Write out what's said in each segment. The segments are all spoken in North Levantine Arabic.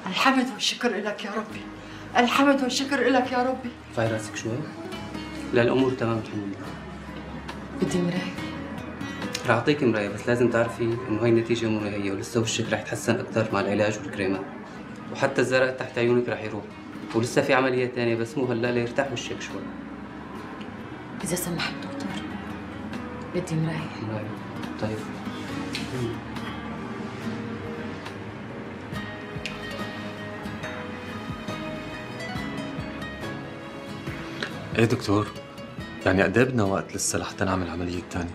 الحمد والشكر لك يا ربي، الحمد والشكر لك يا ربي. ارفعي راسك شوي. لا الامور تمام الحمد لله. بدي مراية. رح اعطيك مراية بس لازم تعرفي انه هي النتيجة مو نهائية ولسه وشك رح يتحسن اكثر مع العلاج والكريمات. وحتى الزرق تحت عيونك رح يروح. ولسه في عملية ثانية بس مو هلا ليرتاح وشك شوي. إذا سمحت دكتور بدي مراية. مراية طيب. ايه دكتور؟ يعني قد ايه بدنا وقت لسه لحتى نعمل العملية الثانية؟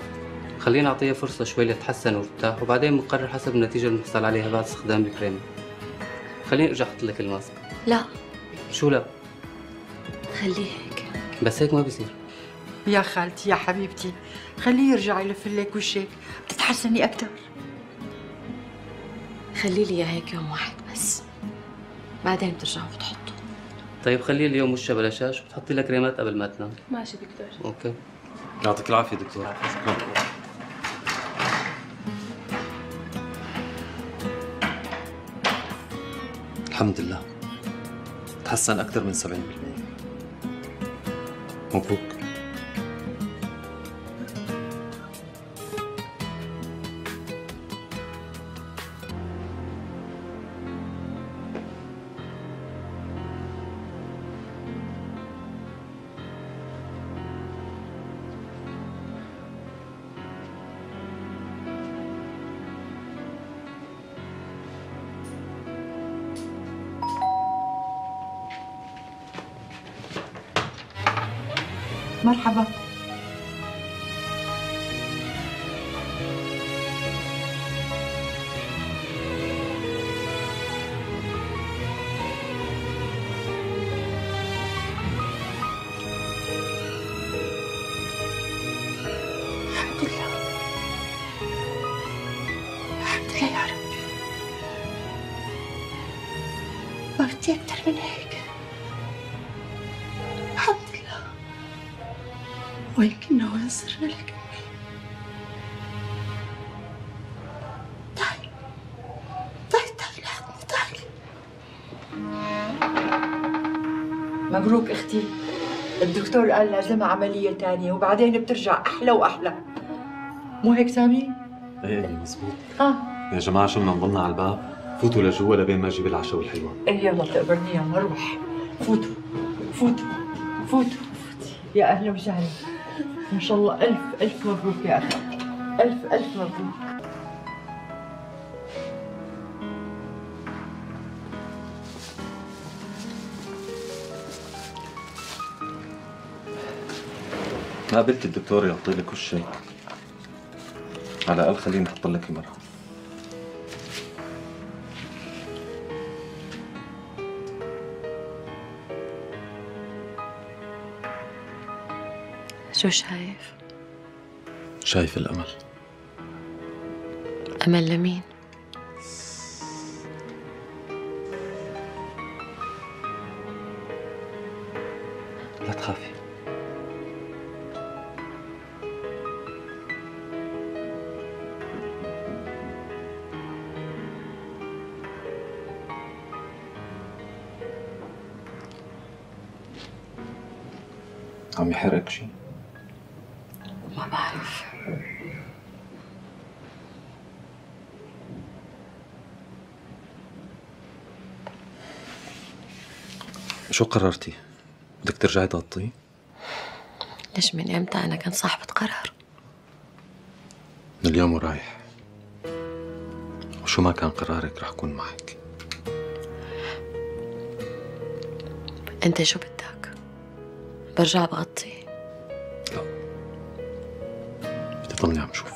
خلينا نعطيها فرصة شوي لتتحسن وترتاح وبعدين بنقرر حسب النتيجة اللي بنحصل عليها بعد استخدام الكريم. خليني ارجع احط لك الماسك. لا. شو لا؟ خليه هيك. بس هيك ما بيصير. يا خالتي يا حبيبتي خليه يرجع يلف لك وشك بتتحسني أكثر. خلي لي اياه هيك يوم واحد بس بعدين بترجعوا بتحطوا. طيب خليه اليوم وشها بلا شاش وتحطي لها كريمات قبل ما تنام. ماشي دكتور. اوكي. يعطيك العافية دكتور. شكرا. الحمد لله تحسن أكثر من 70%. مبروك. مرحبا. الحمد لله الحمد لله يا ربي. ما بدي أكثر من هيك. الحمد لله. ويمكنه ينصرنا لك. تعي تعي تعي لحظة تعي. مبروك اختي، الدكتور قال لازمها عملية تانية وبعدين بترجع أحلى وأحلى. مو هيك سامي؟ ايه مزبوط. ها يا جماعة شو بدنا نضلنا على الباب؟ فوتوا لجوا لبين ما اجيب العشاء والحلوى. ايه يلا بتقبرني يلا روح. فوتوا فوتوا فوتوا. يا أهلا وسهلا. ما شاء الله ألف ألف مبروك يا أخي. ألف ألف مبروك. قابلت الدكتور يعطي لك وشك. على الأقل خليني أحط لك المرهم. شو شايف؟ شايف الأمل. أمل لمين؟ لا تخافي. عم يحرقك شي؟ ما بعرف. شو قررتي؟ بدك ترجعي تغطيه؟ ليش من امتى انا كنت صاحبة قرار؟ من اليوم ورايح. وشو ما كان قرارك رح أكون معك. انت شو بدك؟ برجع بغطي؟ لا بدي ضلني عم شوف.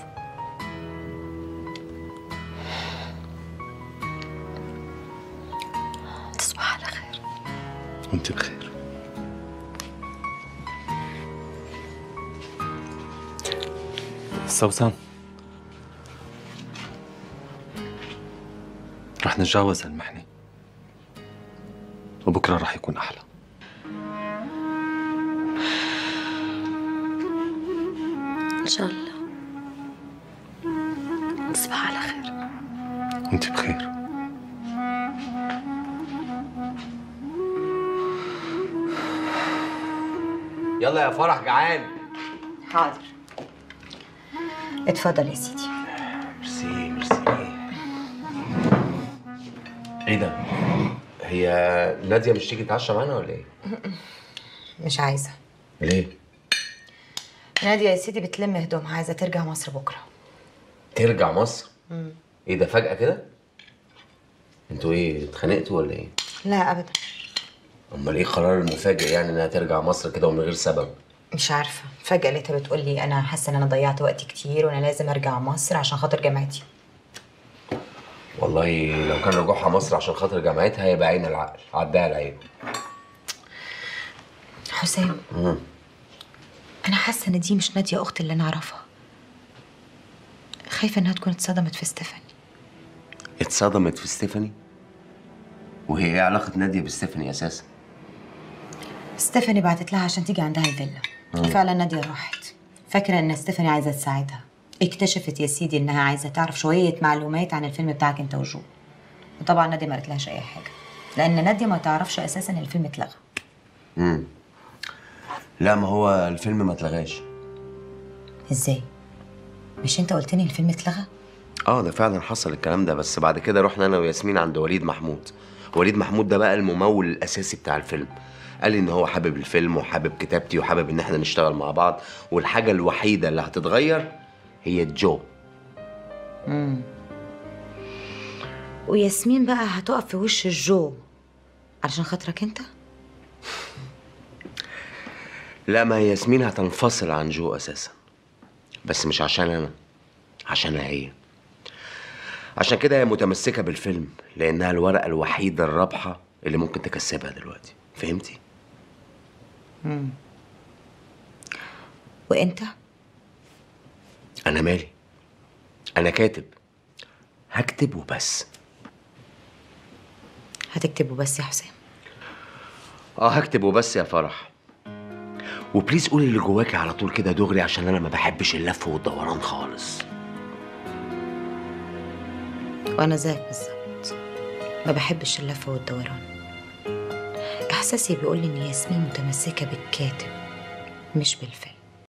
تصبح على خير. وانت بخير. سوسن رح نتجاوز هالمحنة وبكرة رح يكون أحلى. إن شاء الله. تصبح على خير. وانت بخير. يلا يا فرح جعان. حاضر. اتفضل يا سيدي. ميرسي ميرسي. ايه ده؟ هي ناديه مش تيجي تتعشى معانا ولا ايه؟ مش عايزة. ليه؟ نادية يا سيدي بتلم هدومها، عايزة ترجع مصر بكرة. ترجع مصر؟ ايه ده فجأة كده؟ انتوا ايه اتخانقتوا ولا ايه؟ لا أبدا. امال ايه القرار المفاجئ يعني انها ترجع مصر كده ومن غير سبب؟ مش عارفة، فجأة لقيتها بتقول لي أنا حاسة إن أنا ضيعت وقت كتير وأنا لازم أرجع مصر عشان خاطر جامعتي. والله لو كان رجوعها مصر عشان خاطر جامعتها يبقى عين العقل، عدها العيب. حسام. أنا حاسة إن دي مش نادية أختي اللي أنا أعرفها. خايفة إنها تكون اتصدمت في ستيفاني. اتصدمت في ستيفاني؟ وهي ايه علاقة نادية بستيفاني أساسا؟ ستيفاني بعتت لها عشان تيجي عندها الفيلا، وفعلا نادية راحت. فاكرة إن ستيفاني عايزة تساعدها. اكتشفت يا سيدي إنها عايزة تعرف شوية معلومات عن الفيلم بتاعك أنت وجو. وطبعا نادية ما قالتلهاش أي حاجة، لأن نادية ما تعرفش أساسا إن الفيلم اتلغى. لا ما هو الفيلم ما اتلغاش. إزاي؟ مش أنت قلت لي الفيلم اتلغى؟ ده فعلا حصل الكلام ده، بس بعد كده رحنا انا وياسمين عند وليد محمود. وليد محمود ده بقى الممول الاساسي بتاع الفيلم. قال لي ان هو حابب الفيلم وحابب كتابتي وحابب ان احنا نشتغل مع بعض، والحاجه الوحيده اللي هتتغير هي جو. وياسمين بقى هتقف في وش الجو علشان خاطرك انت؟ لا ما هي ياسمين هتنفصل عن جو اساسا، بس مش عشان انا، عشانها هي. عشان كده هي متمسكه بالفيلم لانها الورقه الوحيده الرابحه اللي ممكن تكسبها دلوقتي. فهمتي؟ وانت؟ انا مالي، انا كاتب، هكتب وبس. هتكتب وبس يا حسام؟ هكتب وبس يا فرح. وبليز قولي اللي جواكي على طول كده دغري، عشان انا ما بحبش اللف والدوران خالص. وانا زيك بالظبط، ما بحبش اللف والدوران. احساسي بيقول لي ان ياسمين متمسكه بالكاتب مش بالفيلم.